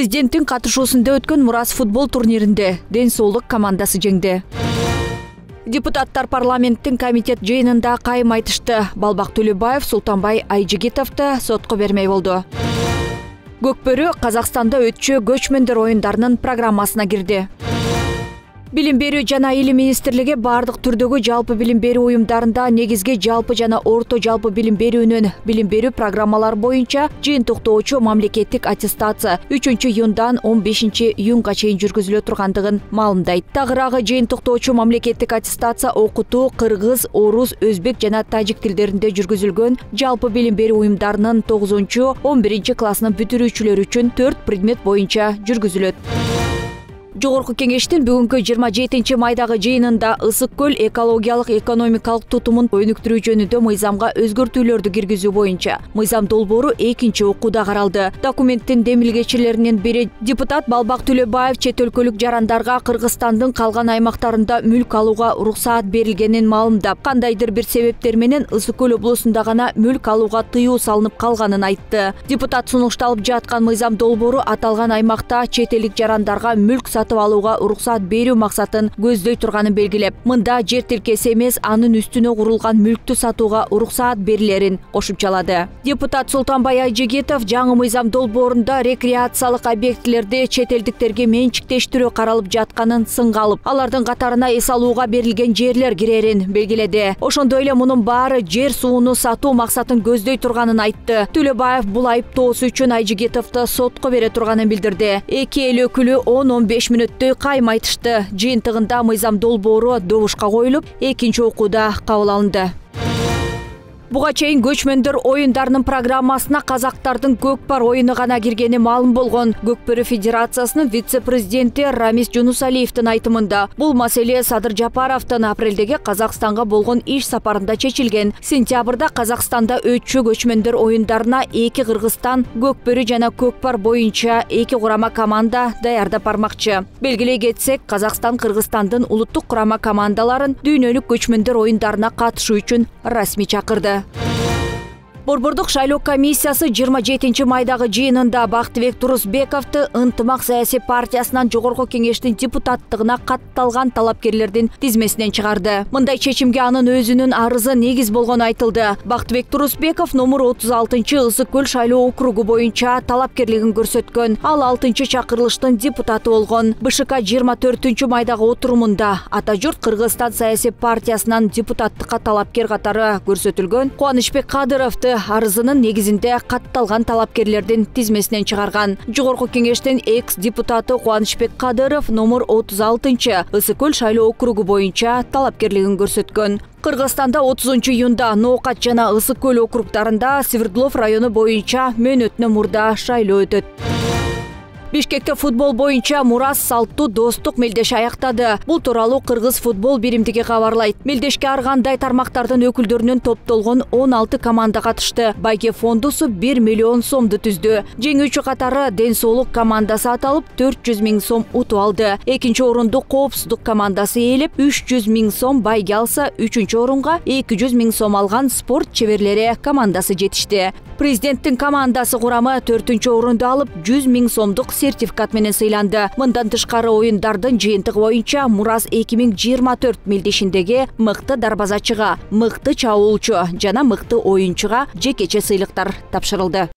Президенттин катышуусунда өткөн Мурас футбол турниринде Ден соолук командасы жеңди. Депутаттар парламенттин комитет жыйынында кайым айтышты. Балбак Төлөбаев Султанбай Айжигитовду сотко бермей болду. Көкбөрү Казакстанда өтчү көчмөндөр оюндарынын программасына кирди. Билим берүү жана илим министрлиги бардык түрдөгү жалпы билим берүү уюмдарында негизги жалпы жана орто жалпы билим берүүнүн билим берүү программалары боюнча жыйынтыктоочу мамлекеттик аттестация 3-июндан 15-июнга чейин жүргүзүлө тургандыгын маалымдайт. Тагыраагы жыйынтыктоочу мамлекеттик аттестация окутуу кыргыз, орус, өзбек жана тажик тилдеринде жүргүзүлгөн жалпы билим берүү уюмдарынын 9-11 классынын бүтүрүүчүлөрү үчүн 4 предмет боюнча жүргүзүлөт. Жогорку кеңештин бүгүнкү 27 майдагы жыйынында Ысык көл экологиялык экономикалык тутумун өнүктүрүү жөнүндө мыйзамга өзгөртүүлөрдү киргизүү боюнча мыйзам долбоору 2-чи окууда каралды. Документтин демилгечилеринин бири депутат Балбак Төлөбаев чет өлкөлүк жарандарга Кыргызстандын калган аймактарында мүлк алууга уруксаат берилгенин маалымдап, кандайдыр бир себептер менен Ысык көл облусунда гана мүлк алууга тыюу салынып калганын айтты. Депутат сунушталып жаткан мыйзам долбоору аталган аймакта чет элдик жарандарга мүлк сатып алууга уруксаат берүү максатын көздөй турганын белгилеп, мында жер тилкеси эмес, анын үстүнө курулган мүлктү сатууга уруксаат берилерин кошумчалады. Депутат Султанбай Айжигитов жаңы мыйзам долбоорунда рекреациялык объектилерди чет элдиктерге менчиктештирүү каралып жатканын сынга алып, алардын катарына эс алууга берилген жерлер кирерин белгиледи. Ошондой эле мунун баары жер сууну сатуу максатын көздөй турганын айтты. Төлөбаев бул айыптоосу үчүн Айжигитовду сотко бере турганын билдирди. Эки эл өкүлү 10-15 мүнөттөй кайым айтышты. Жыйынтыгында мыйзам долбоору добушка коюлуп, 2-чи окууда кабыл алынды. Буга чейин көчмөндөр оюндарынын программасына казактардын көкпар оюну гана киргени маалым болгон Көкбөрү Федерациясынын вице-президенти Рамис Жунусалиевдин айтымында бул маселе Садыр Жапаровдун апрелдеги Казакстанга болгон иш сапарында чечилген. Сентябрда Казакстанда өтчү көчмөндөр оюндарына 2 Кыргызстан көкбөрү жана көкпар боюнча 2 курама команда даярдап бармакчы. Белгилей кетсек, Казакстан Кыргызстандын улуттук курама командаларын дүйнөлүк көчмөндөр оюндарына катышуу үчүн расмий чакырды. Борбордук шайлоо комиссиясы 27 майдагы жыйынында Бактыбек Турусбековду Ынтымак саясий партиясынан жогорку кеңештин депутаттыгына катталган талапкерлердин тизмесинен чыгарды. Мындай чечимге анын өзүнүн арызы негиз болгону айтылды. Бактыбек Турусбеков номер 36 Ысык көл шайлоо округу боюнча талапкерлигин көрсөткөн. Ал 6-чакырылыштын депутаты болгон. БШК 24 майдагы отурумунда Ата журт Кыргызстан саясий партиясынан депутаттыкка талапкер катары көрсөтүлгөн Кубанычбек Кадыровду арызынын негизинде катталган талапкерлердин тизмесинен чыгарган. Жогорку кеңештин экс-депутаты Кубанычбек Кадыров номер 36 Ысык көл шайлоо округу боюнча талапкерлигин көрсөткөн. Кыргызстанда 30-июнда Ноокат жана Ысык көл округдарында Свердлов району боюнча мөөнөтүнөн мурда шайлоо өтөт. Бишкекте футбол боюнча Мурас салттуу достук мелдеш аяктады. Бул тууралуу Кыргыз футбол биримдиги кабарлайт. Мелдешке ар кандай тармактардын өкүлдөрүнөн топтолгон 16 команда катышты. Байке фондусу 1 миллион сомду түздү. Жеңүүчү катары Ден соолук командасы аталып 400 000 сом утуп алды. Экинчи орунду Коопсуздук командасы ээлеп 300 000 сом байге алса, үчүнчү орунга 200 000 сом алган спорт чеберлери командасы жетишти. Президенттин командасы курамы 4-чү орунду алып 100 000 сомдук сертификат менен сыйланды. Мындан тышкары оюндардын жыйынтыгы боюнча Мурас 2024 мелдешиндеги мыкты дарбазачыга, мыкты чабуулчу жана мыкты оюнчуга жекече сыйлыктар тапшырылды.